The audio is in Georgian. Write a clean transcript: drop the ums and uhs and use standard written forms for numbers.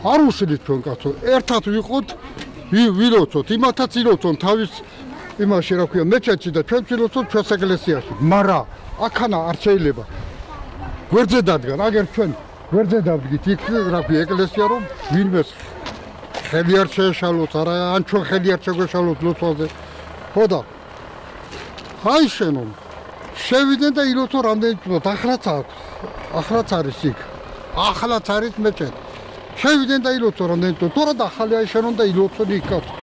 არ უშლით ჩვენ კაცო. ერთად ვიყოთ, ვილოცოთ, იმათაც ილოცონ თავის იმაში რა ქვია, მეჩეთში და ჩვენ ვილოცოთ ჩვენს ეკლესიაში. მაგრამ აქანა არ შეიძლება. გვერდზე დადგან, აგერ ჩვენ გვერდზე დავდგით, იქ რა ქვია, ეკლესია რომ ვინმეს ხელი არ შეეშალოთ, არა ან ჩვენ ხელი არ შეგვეშალოთ ლოცვაზე. ხო და აი შენო შევიდნენ და ილოცო რამდენი წუთად, ახლაც არის იქ. ახლაც არის მეჩეთი. შევიდნენ და ილოცო რამდენი წუთად, თორე და ახალი აი შენო და ილოცო იქ.